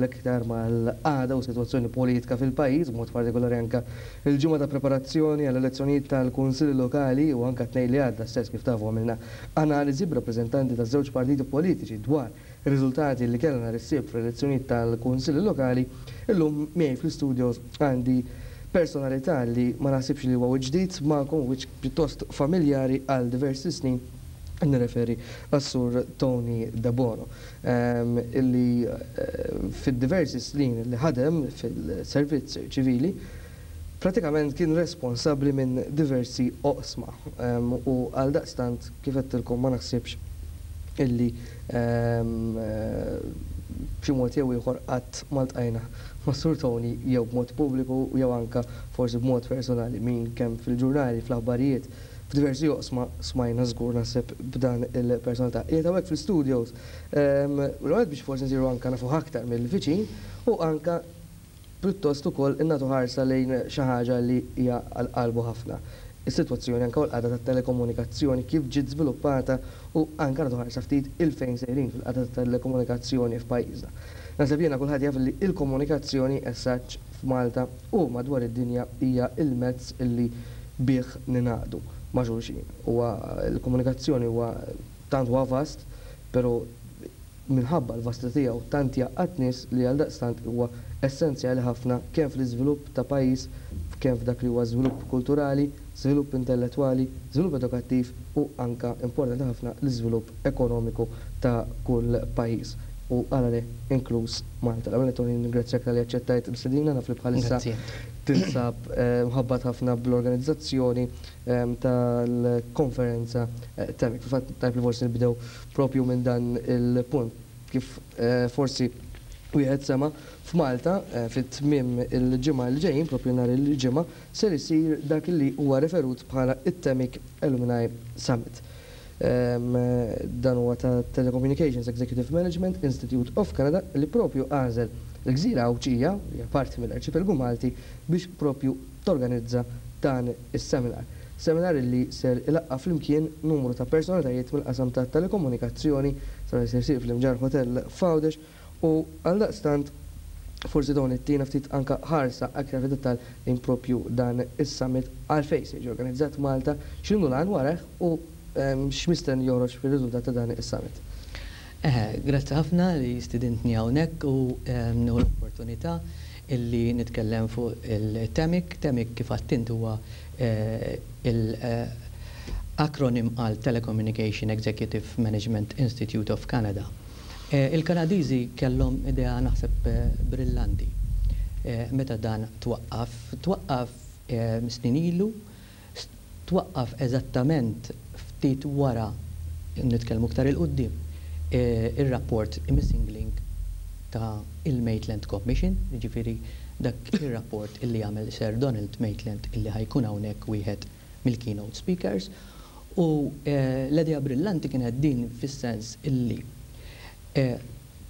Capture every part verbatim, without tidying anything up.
l-iktar mal-qagħda u situazzjoni politika fil-pajjiż, b'mod partikolari anka il-ġimgħa ta' preparazzjoni għall-elezzjonijiet tal-Kunsilli Lokali u anka t-Tnejn li għadda stess, kif tafu, għamilna analiżi b'rappreżentanti ta' żewġ partiti politiċi dwar ir-riżultati li kellna nhar is-Sibt fl-elezzjonijiet tal-Kunsilli Lokali. Illum miegħi fl-studios għandi personalità li ma naħsibx li huwa ġdid magħkom, wiċċ pjuttost familjari għal diversi snin. Nirreferi għas-Sur Tony Debono, illi eh, fid-diversi snin li ħadem fil-servizz ċivili pratikament kien responsabli minn diversi oqsma u għal daqstant, kif għedtilkom, ma naħsibx illi eh, b'xi mod jew ieħor qatt ma ltqajna ma' Sur Tony jew b'mod pubbliku jew anka forsi b'mod personali. Min kemm fil-ġurnali, fl-aħbarijiet, f'diversi oqsma smajna żgur naħseb b'dan il-personalità. Qiegħed hawnhekk fl-studios l biex forsi nsiru anka nafu aktar mill-viċin u anka pjuttost ukoll innatu ħarsa lejn xi ħaġa li hija għal qalbu ħafna. Is-sitwazzjoni anka l-qagħda tat-telekomunikazzjoni, kif ġiet żviluppata u anka nagħtu ħarsa ftit 'il fejn sejrin fil-qagħda tat-telekomunikazzjoni f'pajjiżna. Naħseb jiena kulħadd jaf li il-komunikazzjoni as f'Malta u madwar id-dinja hija il-mezz illi bih ningħaqdu ma' xulxin. Huwa l-komunikazzjoni huwa tant huwa vast, però minħabba l-vastità tiegħu tant jgħaqqad nies li għal daqstant huwa essenzjali ħafna kemm fl-iżvilupp ta' pajjiż, kemm f'dak li huwa żvilupp kulturali, żvilupp intellettwali, żvilupp edukattiv u anka, importanti ħafna, l-iżvilupp ekonomiku ta' kull pajjiż u għalale inkluż Malta. L-ewwel, Tony, ningrazzjak talli aċċettajt l-istedina. Naf li bħalissa tinsab eh, mħabbat ħafna bl-organizzazzjoni eh, tal-konferenza eh, TEMIC. Fil-fatt, tajjeb li forsi nibdew propju minn dan il-punt. Kif forsi wieħed sema, f'Malta fit-tmiem il-ġimgħa li ġejjin, propju nhar il-Ġimgħa, ser isir dak li huwa referut bħala it-TEMIC Alumni Summit. Dan huwa ta' Telecommunications Executive Management Institute of Canada, li propju għażel il-gżira Għawdxija, hija parti mill-Arċipelgu Malti, biex propju torganizza dan is-seminar. Seminar li ser ilaqqa flimkien numru ta' personalitajiet mill-qasam ta' telekomunikazzjoni, ser jsir fl-Imġarr Hotel f'Għawdex u għal daqstant forsi dawn ittina ftit anka ħarsa aktar fid-dettal in propju dan is-summit, għalfejn se jiġi organizzat Malta, x'inhu l-għan warajh u x'mistenni joħroġ fir-riżultat ta' dan is-summit. Eh, grazzi ħafna li stidintni hawnhekk u nieħu l-opportunità illi nitkellem fuq il-TEMIC. TEMIC, kif għedt, huwa eh, il-akronim għal Telecommunication Executive Management Institute of Canada. Eh, Il-Kanadiżi kellhom idea, naħseb, brillanti. Meta dan twaqqaf, twaqqaf snin ilu, twaqqaf eżattament ftit wara, nitkellmu aktar 'il quddiem, il-rapport Missing Link ta' il-Maitland Commission, ġifieri dak il-rapport illi għamel Sir Donald Maitland, illi ħa jkun hawnhekk wieħed mill-keynote speakers. U l-idea brillanti kienet din, fis-sens illi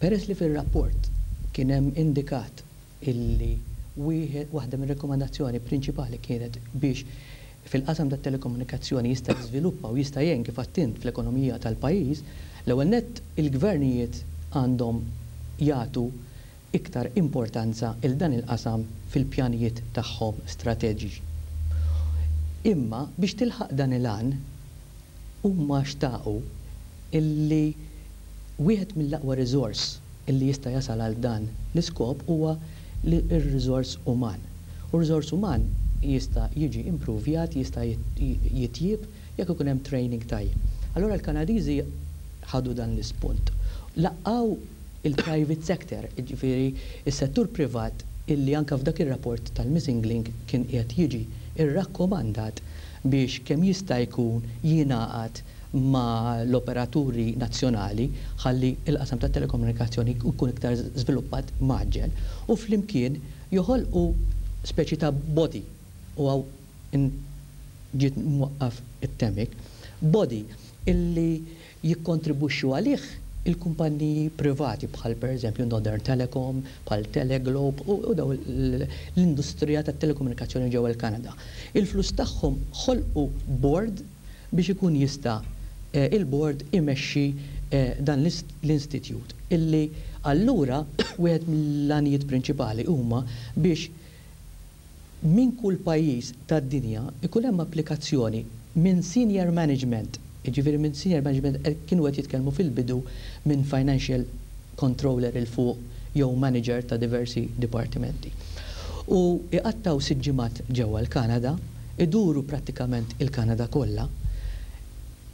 peress li fil-rapport kien hemm indikat illi wieħed waħda mir-rekomandazzjoni prinċipali kienet biex fil-qasam tat telekomunikazzjoni jista' jiżviluppa u jista' jgħin, kif għedt, fl-ekonomija tal-pajjiż, l-ewwel nett il-gvernijiet għandhom jagħtu iktar importanza 'il dan il-qasam fil-pjanijiet tagħhom strateġiċi. Imma biex tilħaq dan il-għan, huma xtaqu illi wieħed mill-aqwa riżors illi jista' jasal għal dan l-iskop huwa ir-riżors uman. U r-riżors uman jista' jiġi improvjat, jista' jitjib jekk ikun hemm training tajjeb. Allora l-Kanadiżi ħadu dan l-ispunt. Laqqgħu il-private sector, ġifieri il-settur privat, illi anka f'dak ir-rapport tal-Missing Link kien qiegħed jiġi irrakkomandat biex kemm jista' jkun jingħaqad ma l-operaturi nazzjonali ħalli il-qasam tat telekomunikazzjoni jkun iktar żviluppat mgħaġġel, u flimkien joħolqu speċi ta' body, u hawn ġiet mwaqqaf it-TEMIC, body illi jikkontribwixxu għalih il-kumpanniji privati bħal per eżempju Northern Telecom, bħal Teleglobe u daw l-industrija tat telekomunikazzjoni ġewwa l-Kanada. Il-flus tagħhom ħolqu board biex ikun jista' eh, il-board imexxi eh, dan l-institute illi Allura, wieħed mill-għanijiet prinċipali huma biex minn kull pajjiż tad-dinja ikun hemm applikazzjoni minn senior management, jiġifieri minn senior management eh, kienu qed jitkellmu fil-bidu minn financial controller 'il fuq jew manager ta' diversi dipartimenti. U iqattaw sitt ġimgħat ġewwa l-Kanada, iduru prattikament il-Kanada kollha,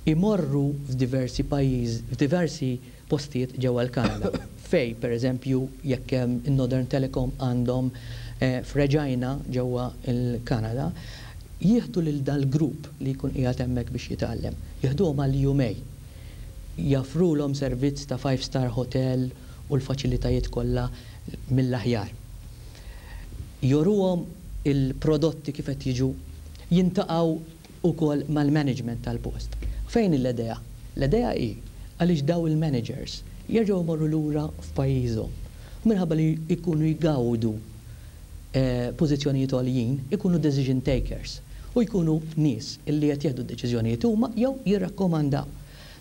imorru f'diversi pajjiż, f'diversi postijiet ġewwa l-Kanada. Fej, per eżempju, jekk hemm in-Northern Telecom għandhom eh, f'Regina ġewwa il-Kanada, jieħdu lil dal-grupp li jkun qiegħed hemmhekk biex jitgħallem. Jieħduhom għal jumejn. Joffrulhom servizz ta' five star hotel u l-faċilitajiet kollha mill-aħjar. Juruhom il-prodotti kif qed jiġu, jiltaqgħu ukoll mal-management tal-post. Fejn l-idea? L-idea hi għaliex daw il-managers jerġgħu jmorru lura f'pajjiżhom. Minħabba li jkunu jgawdu eh, pożizzjonijiet għoljin, ikunu decision takers u jkunu nies illi qed jieħdu d-deċiżjonijiet huma jew jirrakkomandaw.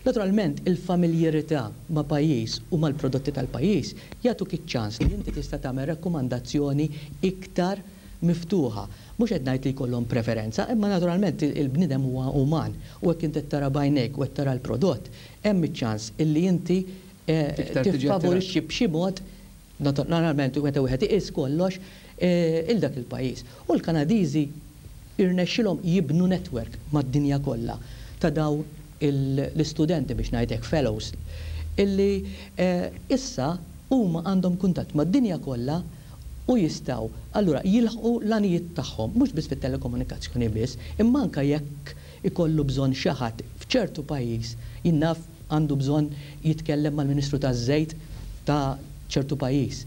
Naturalment, il-familjerità ma' pajjiż u mal-prodotti tal-pajjiż jagħtuk iċ-ċans li inti tista' tagħmel rakkomandazzjoni iktar miftuħa. Mhux qed ngħid li jkollhom preferenza, imma naturalment il-bniedem huwa uman u hekk inti tara b'għajnejk u qed tara l-prodott, hemm iċ-ċans illi inti eh, Iktar tiġi tiffavorixxi b'xi mod naturalment meta wieħed iqis kollox eh, il dak il-pajjiż. U l-Kanadiżi irnexxilhom jibnu network mad-dinja kollha ta' daw l-istudenti, biex ngħidlek fellows, illi eh, issa huma għandhom kuntatt mad-dinja kollha u jistgħu allura jilħqu l-għanijiet tagħhom mhux biss fit-telekomunikazzjoni biss, imma anke jekk ikollu bżonn xi ħadd f'ċertu pajjiż, jien naf, għandu bżonn jitkellem mal-Ministru taż-Żejt ta' ċertu pajjiż.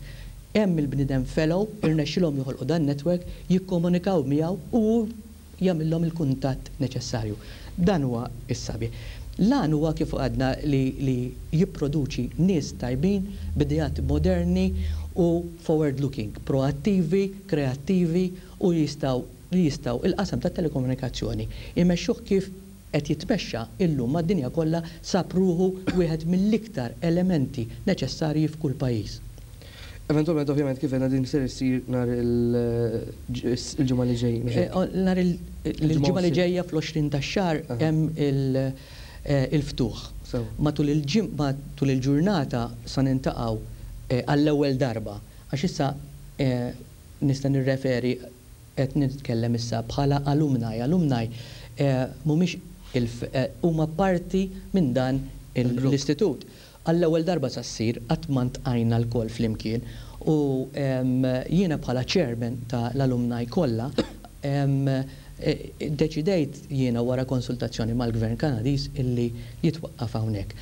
Hemm il-bniedem fellow, irnexxilhom joħolqu dan network, jikkomunikaw miegħu u jagħmilhom il-kuntatt neċessarju. Dan huwa is-sabiħ. L-għan huwa, kif għadna, li, li jipproduċi nies tajbin b'ideat moderni u forward looking, proattivi, kreattivi u jistgħu li jistgħu il-qasam tat telekomunikazzjoni imexxuh kif qed jitmexxa illum mad-dinja kollha, sab ruħu wieħed mill-iktar elementi neċessarji f'kull pajjiż. Eventualment, ovvjament, kif għedna, din ser issir nhar il-ġimgħa li ġej. Eh, nhar il-ġimgħa li ġejja, fl-għoxrin tax-xahar, hemm eh, il-ftuħ. Matul matul il-ġurnata sa niltaqgħu eh, għall-ewwel darba, għax issa nista' nirreferi, qed nitkellem issa bħala alumni. Alumni mhumiex huma parti minn dan l-istitut. Għall-ewwel darba sa ssir, qatt ma ltqajna lkoll flimkien, u jiena bħala chairman ta' l-alumni kollha e, deċidejt jiena, wara konsultazzjoni mal-Gvern Kanadiż, illi jitwaqqaf hawnhekk.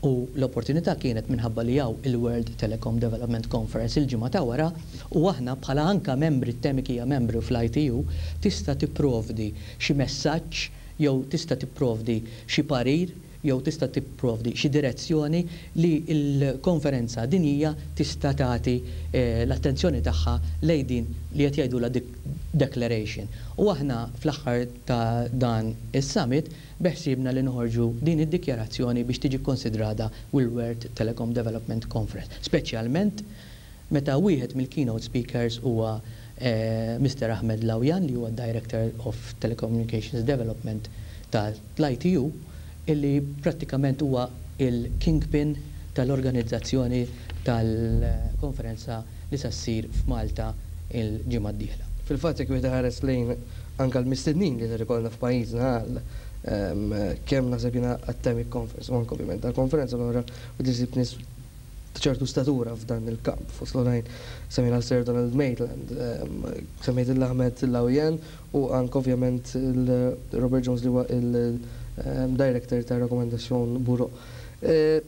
U l-opportunità kienet minħabba li hawn il-World Telecom Development Conference il-ġimgħa ta' wara u aħna bħala anka membri, Temik hija membru fl-I T U, tista' tipprovdi xi messaġġ jew tista' tipprovdi xi parir jew tista' tipprovdi xi direzzjoni li l-konferenza dinjija tista' tagħti eh, l-attenzjoni tagħha lejn din li qed jgħidulha declaration. U aħna fl-aħħar ta' dan is-summit beħsibna li noħorġu din id-dikjarazzjoni biex tiġi konsidrata World Telecom Development Conference, speċjalment meta wieħed mill-keynote speakers huwa eh, Mister Ahmed Laouian, li huwa Director of Telecommunications Development tal-I T U, illi prattikament huwa il-kingpin tal-organizzazzjoni tal-konferenza li sa ssir f'Malta il-ġimgħa d-dieħla. Fil-fatt, jekk wieħed ħares lejn anke l-mistednin li ser ikollna f'pajjiżna għal kemm naħseb jiena għat-Temik Conference u anke ovvjament għall-konferenza l-oħra, u tisib nies ċertu statura f'dan il-kamp. Fost l-oħrajn semmejna Sir Donald Maitland, semmejt l-Ahmed Laouian u anke ovvjament il-Robert Jones, li huwa il-Director ta' Recommendation Bureau. E,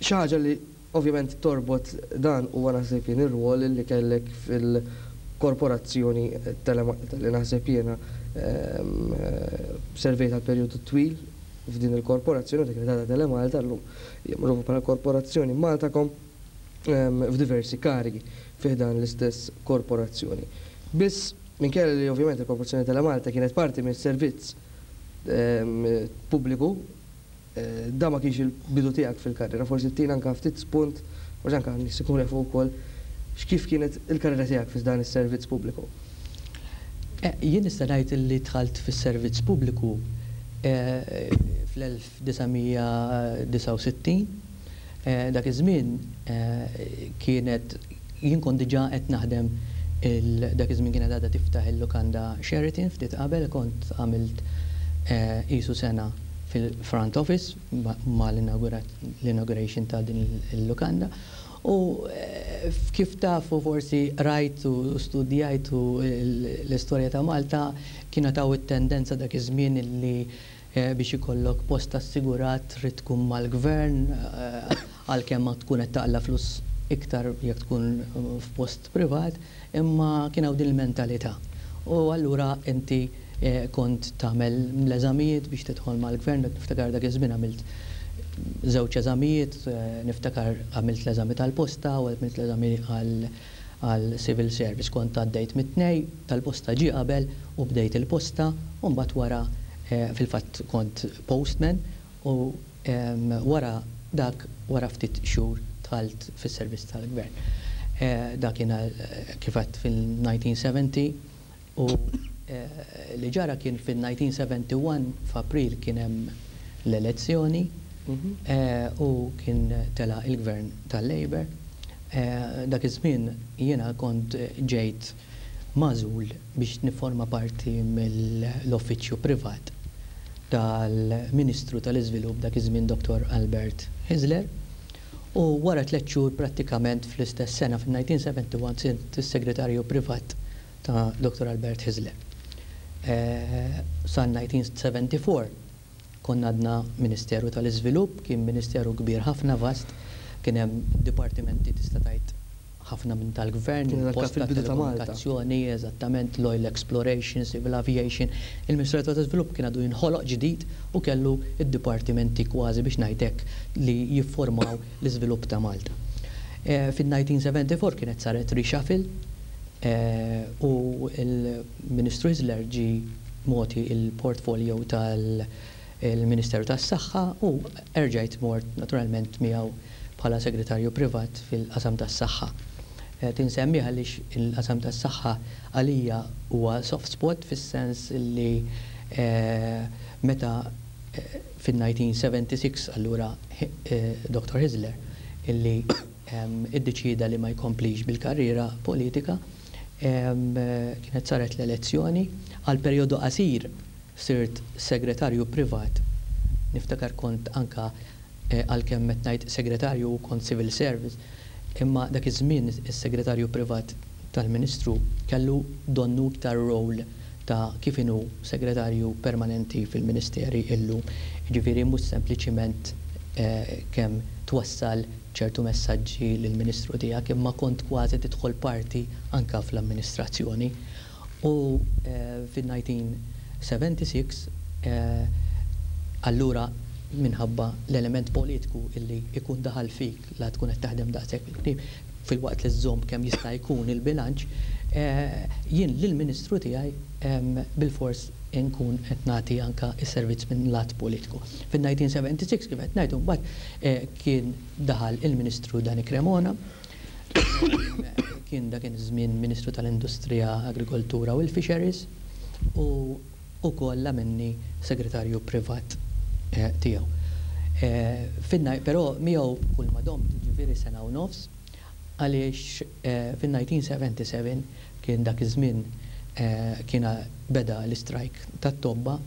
xi ħaġa li ovvjament torbot dan huwa, naħseb jien, ir-rwol li kellek fil-korporazzjoni Telemalta, li naħseb jiena servejt għal perjodu twil f'din il-korporazzjoni dik li ta' Telemalta, llum magħrufa bħala Korporazzjoni Maltacom, f'diversi karigi fi dan l-istess korporazzjoni. Biss minkejja li ovvjament il-Korporazzjoni Telemalta kienet parti mis-servizz pubbliku, eh, da ma kienx il-bidu tiegħek fil-karriera, forsi tina anke ftit spunt Forsi anke nies ikunu jafu wkoll x'kif kienet il-karriera tiegħek fi dan is-servizz pubbliku. Eh, jien nista' ngħid li dħalt fis-servizz pubbliku eh, fl-elf disa' mija disgħa u sittin. Eh, dak iż-żmien kienet jien kont diġà qed naħdem, dak iż-żmien kienet għadha tiftaħ il-lukanda Sheraton. Ftit qabel kont għamilt qisu sena fil-front office ma l-inauguration ta' din il-lukanda. U eh, kif tafu, forsi rajtu u studjajtu l-istorja ta' Malta, kienet hawn it-tendenza dak iż-żmien li eh, biex ikollok post assigurat trid tkun mal-gvern, eh, għalkemm ma tkun qed taqla flus iktar jekk tkun f'post privat, imma kien hawn din il-mentalità. U allura inti kont tagħmel l-eżamijiet biex tidħol mal-gvern. Niftakar dak iż-żmien għamilt żewġ eżamijiet, eh, niftakar għamilt l-eżami tal-posta u għamilt l-eżami għal civil service. Kont għaddejt mit-tnejn, tal-posta ġi qabel u bdejt il-posta, u mbagħad wara eh, fil-fatt kont postman u wara dak, wara ftit xhur, dħalt fis-servizz tal-gvern. Eh, dak kien kif għedt fil-elf disa' mija sebgħin u li ġara kien fil-elf disa' mija sebgħa u erbgħin f'April kien hemm l-elezzjoni mhm. eh, u kien tela il-gvern tal-Labour. Eh, dak iż-żmien jiena kont ġejt magħżul biex niforma parti mill-uffiċċju privat tal-Ministru tal-Iżvilupp dak iż-żmien, Doktor Albert Hyzler. U wara tliet xhur, prattikament fl-istess sena, fil-elf disa' mija sebgħa u erbgħin, sirt is-segretarju privat ta' Doktor Albert Hyzler. Eh, sa elf disa' mija sebgħa u erbgħin konna għadna Ministeru tal-Iżvilupp, kien ministeru kbir ħafna, vast, kien hemm dipartimenti, tista' tgħid, ħafna minn tal-gvern, il-posta, telekomunikazzjoni, eżattament, l-oil exploration, civil aviation. Il-Ministeru tal-Iżvilupp kien għadu jinħoloq ġdid u kellu id-dipartimenti kważi, biex ngħidlek, li jiffurmaw l-iżvilupp ta' Malta. E, Fil-elf disa' mija sebgħa u erbgħin kienet saret reshuffle e, u il-Ministru Hyzler ġi mogħti il-portfolio tal- il-Ministeru tas-Saħħa u erġajt mort naturalment miegħu bħala segretarju privat fil-qasam tas-saħħa. Eh, tinsemmi għaliex il-qasam tas-saħħa għalija huwa soft spot, fis-sens li eh, meta eh, fil-elf disa' mija sebgħa u sittaw allura Doktor Hyzler illi iddeċida li ma jkomplix bil-karriera politika, kienet saret l-elezzjoni, għal perjodu qasir sirt segretarju privat. Niftakar kont anka, għalkemm qed ngħid segretarju, kont civil service, imma dak iż-żmien is-segretarju privat tal-Ministru kellu donnu iktar role ta' kif inhu segretarju permanenti fil-ministeri illum. Ġifieri mhux sempliċiment eh, kemm twassal ċertu messaġġi lill-Ministru tiegħek, imma kont kważi tidħol parti anka fl-amministrazzjoni. U eh, fil-elf disa' mija sebgħa u sittaw eh, allura minħabba l-element politiku illi ikun daħal fik la tkun qed taħdem daqshekk fil-qrib, filwaqt li żżomm kemm jista' jkun il-bilanċ, eh, jien lill-Ministru tiegħi bil-fors inkun qed nagħti anka s-servizz minn lat politiku. Fil-elf disa' mija sebgħa u sittaw, kif qed ngħidu, mbagħad eh, kien daħal il-Ministru Dani Cremona, kien dak iż-żmien Ministru tal-Industrija, Agrikoltura u l-Fisheries u ukoll minni segretarju privat eh, tiegħu. Eh, finna, però miegħu kull ma domt, ġifieri sena u nofs, għaliex eh, fil-elf disa' mija sebgħa u sebgħin kien dak iż-żmien kien beda l-istrajk tat-tobba.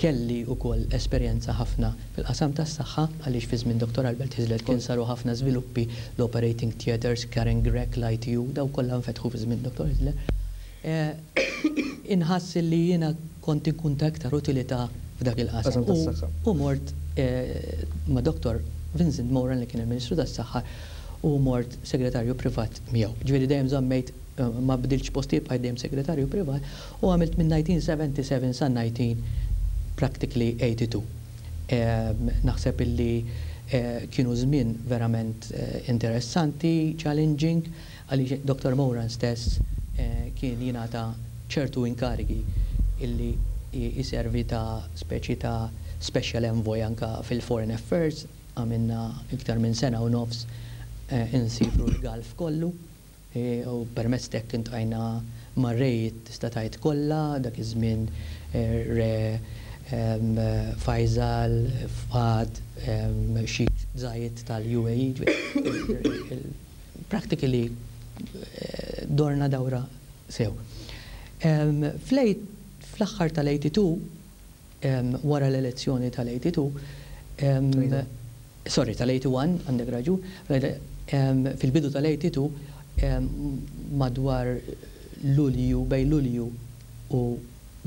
Kelli wkoll esperjenza ħafna fil-qasam tas-saħħa għaliex fi żmien Doktor Albert Hyzler kien saru ħafna żviluppi, l-operating theaters, Karen Grech, l-I T U, daw kollha nfetħu fi żmien Doktor Hyzler. Inħass li jiena kont inkun ta' iktar utilità f'dak il-qasam. U mort eh, ma' Doktor Vincent Moran, li kien il-Ministru tas-Saħħa, u mort segretarju privat miegħu. Ġifieri dejjem żammejt, eh, ma bdilx posti, bqajt dejjem segretarju privat u għamilt minn elf disa' mija sebgħa u sebgħin sa elf disa' mija practically tnejn u tmenin. Naħseb illi eh, kienu żmien verament interessanti, challenging, għaliex Doktor Moran stess kien jingħata ċertu inkarigi illi jiservi ta' speċi ta' special envoy anka fil-foreign affairs. Għamilna iktar minn sena u nofs insifru l-Gulf kollu u permezz t'hekk iltqajna mar-rejiet, tista' tgħid, kollha, dak iż-żmien Re Faisal, Fahd, Sheikh Zayed tal-U A E. Practically dorna dawra sew. Fl-aħħar tal-tnejn u tmenin, wara l-elezzjoni tal-tnejn u tmenin, sorry, tal-wieħed u tmenin, għandek raġun, fil-bidu tal-tnejn u tmenin, madwar Lulju, bejn Lulju u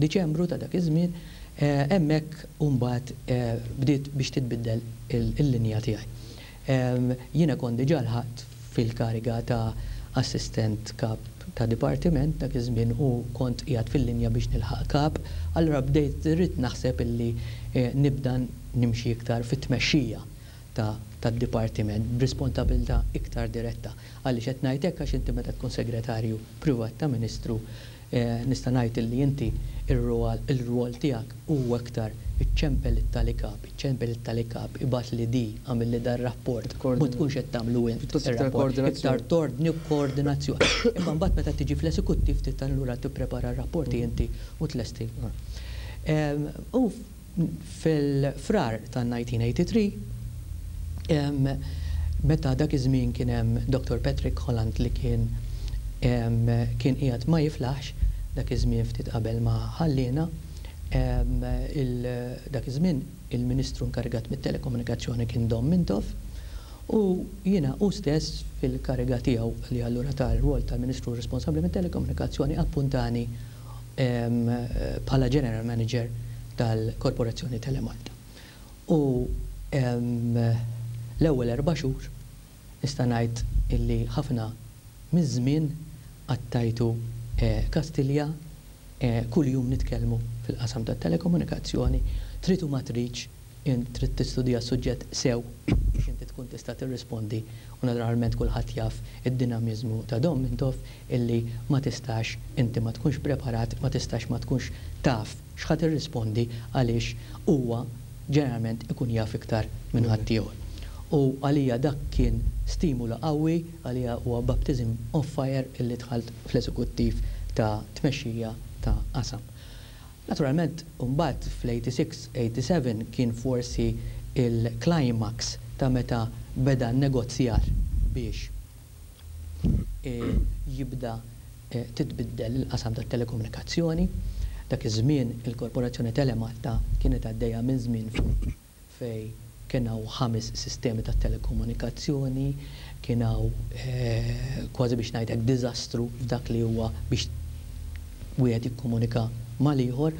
Diċembru ta' dak iż-żmien, hemmhekk mbagħad bdiet biex titbiddel il-linja tiegħi. Jiena kont diġà lħaqt fil-kariga ta' assistent kap ta' dipartiment dak iż-żmien u kont qiegħed fil-linja biex nilħaq kap, allura bdejt irrid naħseb illi nibda nimxi iktar fit-tmexxija tad-dipartiment b'responsabilità iktar diretta. Għaliex qed ngħid hekk? Għax inti meta tkun segretarju privat ta' ministru, nista' ngħid illi inti ir-rwol tiegħek huwa iktar iċċempel it-tali kap, iċċempel it-tali kap, ibgħatli di, għamilli dar-rapport, ma tkunx qed tagħmlu int ir-rapport, iktar tordni u koordinazzjoni. Imma mbagħad meta tiġi fl-esekuttiv trid allura tipprepara r-rapporti inti u tlesti. U fil-Frar ta' elf disa' mija u tmienja u tmenin, meta dak iż-żmien kien hemm Doctor Patrick Holland li kien kien qiegħed ma jiflaħx dak iż-żmien ftit qabel ma ħallina, dak iż-żmien il-Ministru inkarigat mit-telekomunikazzjoni kien Dom Mintoff u jiena u stess fil-kariga tiegħu li allura tal-rwol tal-Ministru responsabbli mit-telekomunikazzjoni appuntani bħala General Manager tal-Korporazzjoni Telemalta. U l-ewwel erba' xhur nista' ngħid illi ħafna miż-żmien qattajtu Kastilja, kuljum nitkellmu fil-qasam tat-telekomunikazzjoni. Trid u ma tridx, int trid tistudja s-suġġett sew biex inti tkun tista' tirrispondi u naturalment kulħadd jaf id-dinamiżmu ta' Dom Mintoff illi ma tistax inti ma tkunx preparat, ma tistax ma tkunx taf x'ħa tirrispondi għaliex huwa ġeneralment ikun jaf iktar minn ħaddieħor. U għalija dak kien stimula qawwi, għalija huwa baptism of fire illi dħalt fl-eżekuttiv ta' tmexxija ta' qasam. Naturalment, mbagħad fl-tmienja u sitta tmienja u sebgħin kien forsi il-climax ta' meta beda negozjar biex jibda titbiddel il-qasam tat-telekomunikazzjoni. Dak iż-żmien il-Korporazzjoni Telemalta kienet għaddejja minn żmien fej kien hawn ħames sistemi ta' telekomunikazzjoni, kien hawn kważi biex ngħidlek diżastru f'dak li huwa biex wieħed jikkomunika mal-ieħor,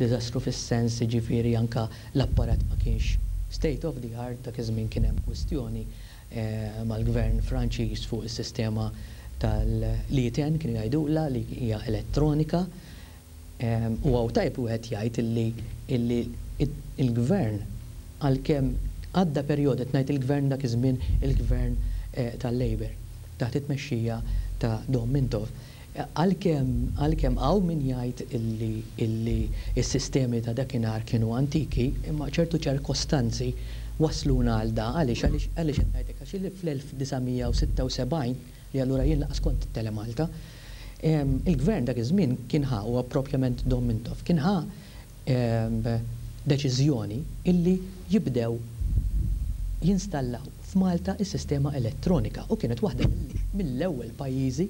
diżastru fis-sens ġifieri anka l-apparat ma kienx state of the art. Dak iż-żmien kien hemm kwistjoni mal-gvern Franċiż fuq is-sistema tal-E T N, kienu jgħidula li hija elettronika. U hawn tajjeb wieħed jgħid illi il-gvern, għalkemm għadda perjodu, ngħid il-gvern dak iż-żmien, il-gvern tal-Labour taħt it-tmexxija ta' Dom Mintoff, għalkemm għalkemm hawn min jgħid illi illi s-sistemi ta' dakinhar kienu antiki, imma ċertu ċirkostanzi wasluna għal da. Għaliex għaliex għaliex qed ngħidlek? Għax illi fl-elf disa' mija u sitta u sebgħin, li allura jien lanqas kont Telemalta, il-gvern dak iż-żmien kien ħa, u propjament Dom Mintoff kien ħa deċiżjoni illi jibdew jinstallaw f'Malta is-sistema elettronika u kienet waħda mill-ewwel pajjiżi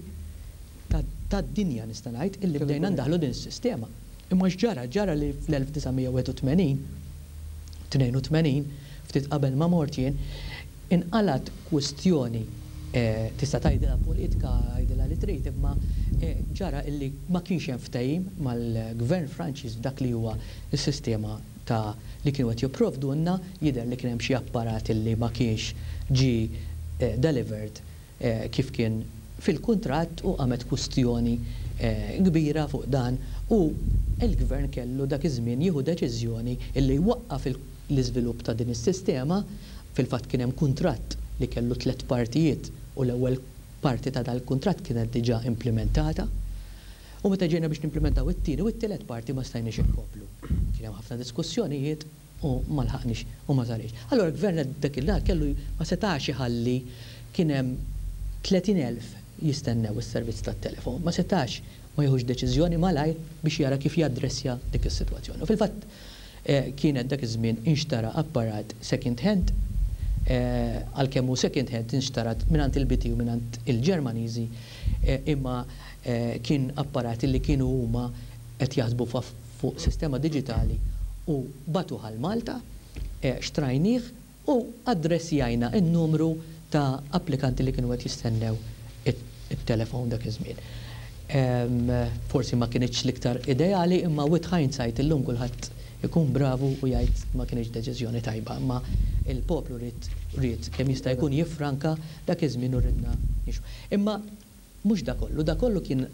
tad-dinja, nista' ngħid, illi bdejna ndaħlu din is-sistema. Imma x'ġara? Ġara li fl-elf disa' mija u wieħed u tmenin, tnejn u tmenin, ftit qabel ma mort jien, inqalat kwistjoni, tista' tgħidilha politika, għidilha li trid, imma ġara illi ma kienx hemm ftehim mal-gvern Franċiż f'dak li huwa s-sistema ta' li kienu qed jipprovdulna. Jidher li kien hemm xi apparat illi ma kienx ġi delivered kif kien fil-kuntratt u qamet kwistjoni kbira fuq dan u il-gvern kellu dak iż-żmien jieħu deċiżjoni illi jwaqqaf l-iżvilupp ta' din is-sistema. Fil-fatt kien hemm kuntratt li kellu tliet partijiet u l-ewwel parti ta' dal-kuntratt kienet diġà implementata. U meta ġejna biex nimplementaw it-tieni u t-tielet parti ma stajniex inkomplu. Kien hemm ħafna diskussjonijiet. U ma lħaqniex u ma sarix. Allora l-gvern dak il kellu ma setax iħalli kien hemm tletin elf jistennew is-servizz tat-telefon. Ma setax ma jieħux deċiżjoni malajr biex jara kif jaddressja dik is-sitwazzjoni. U fil-fatt eh, kienet dak iż-żmien inxtara apparat second hand, eh, għalkemm hu second hand inxtarat mingħand il-B T u mingħand il-Ġermaniżi, eh, imma kien apparat li kienu huma qed jaħsbu fuq sistema diġitali u bagħtuh għal Malta, xtrajnieh u addressjajna n-numru ta' applikanti li kienu qed jistennew it-telefon dak iż-żmien. Forsi ma kienx l-iktar ideali, imma with hindsight illum kulħadd ikun bravu u jgħid ma kienx deċiżjoni tajba, imma il-poplu ried ried kemm jista' jkun jiffranka dak iż-żmien u ridna nixu. Imma mhux da kollu, da kollu kien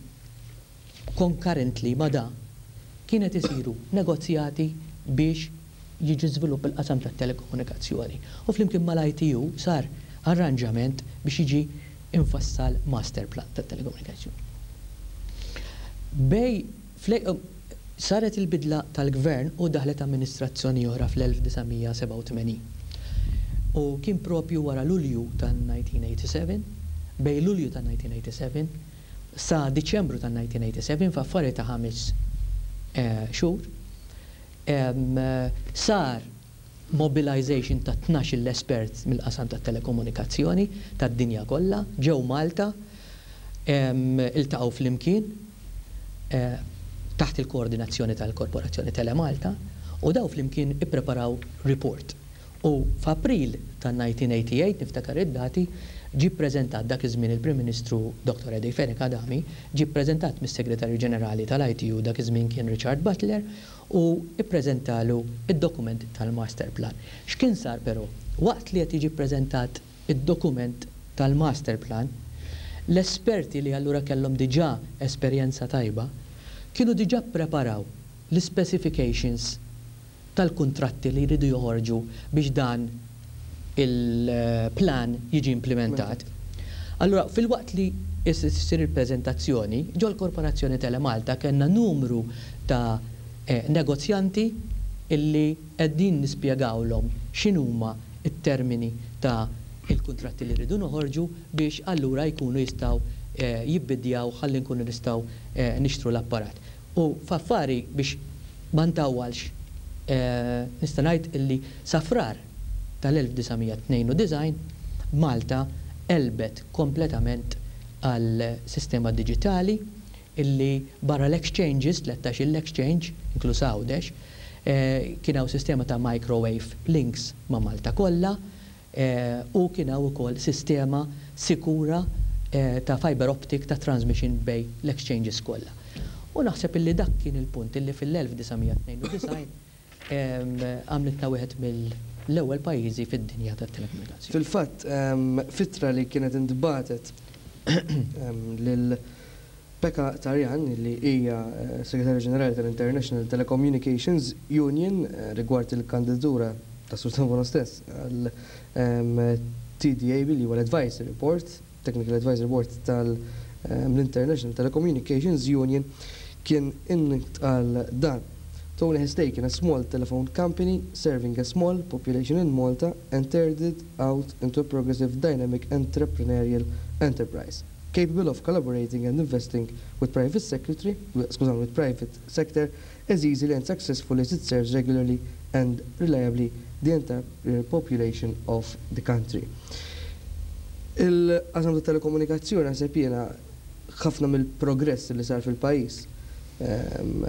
concurrently ma da kienet isiru negozjati biex jiġi żvilupp il-qasam tat-telekomunikazzjoni. U flimkien mal-I T U sar arranġament biex jiġi infassal master plan tat-telekomunikazzjoni. Bej saret il-bidla tal-gvern u daħlet amministrazzjoni oħra fl-elf disa' mija sebgħa u tmenin. U kien propju wara Lulju tan-elf disa' mija tmienja u sebgħin, bej Lulju tan-elf disa' mija tmienja u sebgħin sa Diċembru tan-elf disa' mija sebgħa u sebgħin, f'affari ta' ħames eh, xhur, sar mobilization ta' tnax l-espert mill-qasam ta' telekomunikazzjoni tad-dinja kollha, ġew Malta, iltaqgħu flimkien eh, taħt il-koordinazzjoni tal-Korporazzjoni Telemalta u daw flimkien ippreparaw report. U f'April tan-elf disa' mija tmienja u tmenin, niftakar id-dati, ġi ppreżentat dak iż-żmien il-Prim Ministru Doktor Eddie Fenech Adami, ġi ppreżentat mis-Segretarju Ġenerali tal-I T U, dak iż-żmien kien Richard Butler, u ippreżentalu id-dokument tal-Master Plan. X'kien sar però? Waqt li qed jiġi ppreżentat id-dokument tal-Master Plan, l-esperti li allura kellhom diġà esperjenza tajba, kienu diġà preparaw l-specifications tal-kontratti li jridu joħorġu biex dan il-plan jiġi implementat. Allura, fil-waqt li issir il-prezentazzjoni, ġol Korporazzjoni Telemalta kellna numru ta' eh, negozjanti illi qegħdin nispjegawlhom x'inhuma it-termini ta' il-kontratti li rridu noħorġu biex allura jkunu jistgħu eh, jibbidjaw ħalli nkunu nistgħu eh, nixtru l-apparat. U f'affari biex ma ntawwalx, eh, nista' ngħid illi sa Frar tal-elf disa' mija tnejn u disgħin Malta għelbet kompletament għal sistema digitali illi barra l-exchanges, tlettax l-exchange, inkluż Għawdex, eh, kien hawn sistema ta' microwave links ma' Malta kollha eh, u kien hawn ukoll sistema sikura eh, ta' fiber optic ta' transmission bej l-exchanges kollha. U naħseb illi dak kien il-punt illi fil-elf disa' mija tnejn u disgħin għamlitna wieħed mill-ewwel pajjiżi fid-dinja tat-telekomunikazzjoni. Fil-fatt, f'ittra li kienet intbagħtet lil Pekka Tarjan, li hija eh, Segretarju Ġenerali tal-International Telecommunications Union, eh, rigward il-kandidatura ta' Sur Debono stess għal T D A B, li huwa l-Advisory Board, Technical Advisory Board tal-International Telecommunications Union, kien intqal dan: "Tony has taken a small telephone company serving a small population in Malta and turned it out into a progressive, dynamic, entrepreneurial enterprise, capable of collaborating and investing with private secretary, skużani, with private sector as easily and successfully as it serves regularly and reliably the entire population of the country." Il-qasam ta' telekomunikazzjoni, naħseb jiena, ħafna mill-progress li sar fil-pajjiż ehm,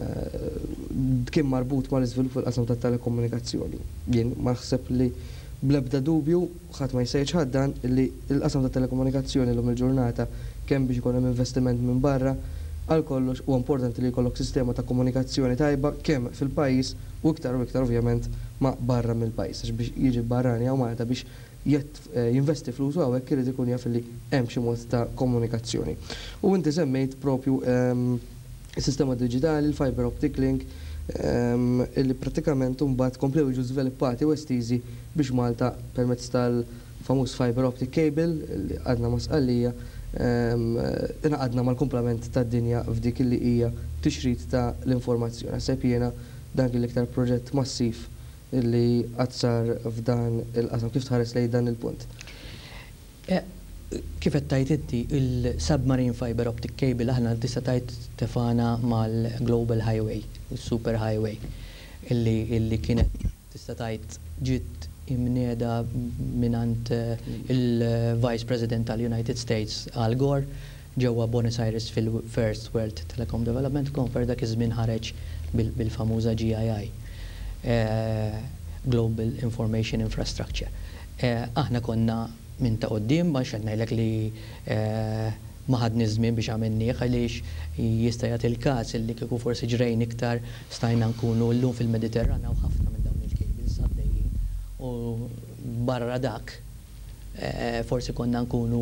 kien marbut mal iżvilupp fil-qasam ta' telekomunikazzjoni. Jien ma naħseb li bl-ebda dubju ħadd ma jista' jiċħad dan, li l-qasam ta' telekomunikazzjoni llum il-ġurnata, kemm biex ikun hemm investiment minn barra, għal kollox u importanti li jkollok sistema ta' komunikazzjoni tajba kemm fil-pajjiż u iktar u iktar ovvjament ma' barra mill-pajjiż, għax biex jiġi barrani hawn Malta biex jett eh, jinvesti flusu hawnhekk irid ikun jaf li hemm xi mod ta' komunikazzjoni. U inti semmejt propju ehm, is-sistema digitali, il-fiber optic link, ehm, illi pratikament mbagħad komplew jiġu żviluppati u estiżi biex Malta permezz tal-famuż fiber optic cable li għadna ma' Sqallija ehm, ingħaqadna mal-kumplament tad-dinja f'dik li hija tixrid ta' l-informazzjoni. Naħseb jiena dan kien l-iktar proġett massiv li qatt sar f'dan il-qasam. Kif tħares lejn dan il-punt? Eh, kif qed tgħid inti, il-submarine fiber optic cable aħna tista' tgħid tefana mal-Global Highway, il-Super Highway, illi, illi kienet tista' tgħid ġiet imnieda minant eh, il-Vice President tal-United States, Al Gore, ġewwa Buenos Aires fil-First World Telecom Development Conference. Dak iż-żmien ħareġ bil-famuża G I I, eh, Global Information Infrastructure. Eh, aħna konna minn ta' quddiem, ma ngħidlek li ma ħadni żmien biex għamilnieh, għaliex jista' jagħti il-każ li kieku forsi ġrejn iktar stajna nkunu llum fil-Mediterran u ħafna minn dawn il-cables għaddejjin u barra dak eh, forsi konna nkunu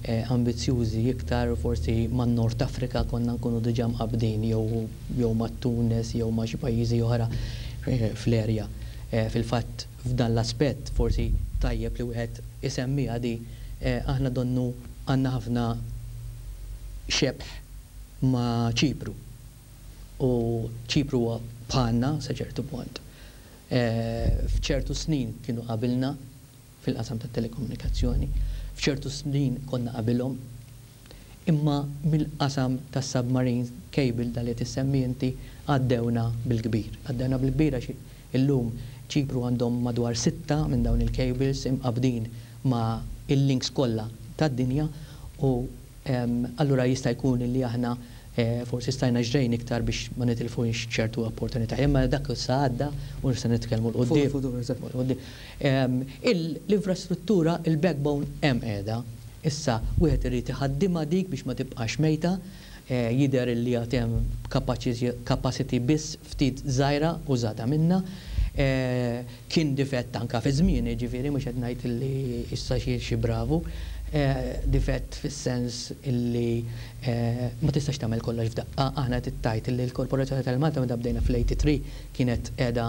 eh, ambizjużi iktar, forsi man Nord Afrika konna nkunu diġà mqabdin jew jew ma' Tunis jew ma' xi pajjiżi oħra eh, fl-erja. Fil-fatt, f'dan l-aspett forsi tajjeb li wieħed isemmi għadi, aħna donnu għandna ħafna xebħ ma' Ċipru. U Ċipru huwa bħalna sa ċertu punt. F'ċertu snin kienu qabilna fil-qasam tat telekomunikazzjoni, f'ċertu snin konna qabilhom, imma mill-qasam tas submarine cable dal li tissemmi inti għaddewna bil-kbir. Għaddewna bil-kbir għax illum Ċipru għandhom madwar sitta minn dawn il-cables imqabdin ma' il-links kollha tad-dinja u allura jista' jkun li aħna eh, forsi stajna ġrejn iktar biex ma nitilfux ċertu opportunità. Imma dak issa għadda u nista' nitkellmu 'l quddiem. L-infrastruttura, il-backbone hemm qiegħda. Issa wieħed irid iħaddimha dik biex ma tibqax mejta, eh, jidher li għad hemm capacity biss ftit żgħira użata minna. Eh, kien difett anka fi żmien, ġifieri mhux qed ngħid li issa xi xi bravu, eh, difett fis-sens illi eh, ma tistax tagħmel kollox f'daqqa. Aħna tittajt illi l-Korporazzjoni tal-Malta meta bdejna fl-tmienja u tmenin kienet qiegħda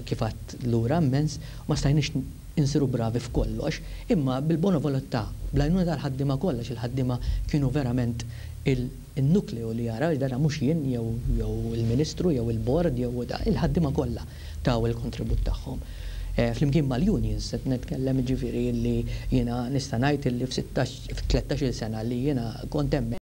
kif għedt lura immens, ma stajniex insiru bravi f'kollox, imma bil-bona volontà, bl-għajnuna tal-ħaddima kollha, il-ħaddima kienu verament il-nukleu li jara, dara mhux jien jew il-Ministru jew il-bord jew il-ħaddima kollha taw il-kontribut tagħhom. Eh, flimkien mal-unions, qed nitkellem, ġifieri li jiena nista' ngħid li f'tlettax-il sena li jiena kont hemm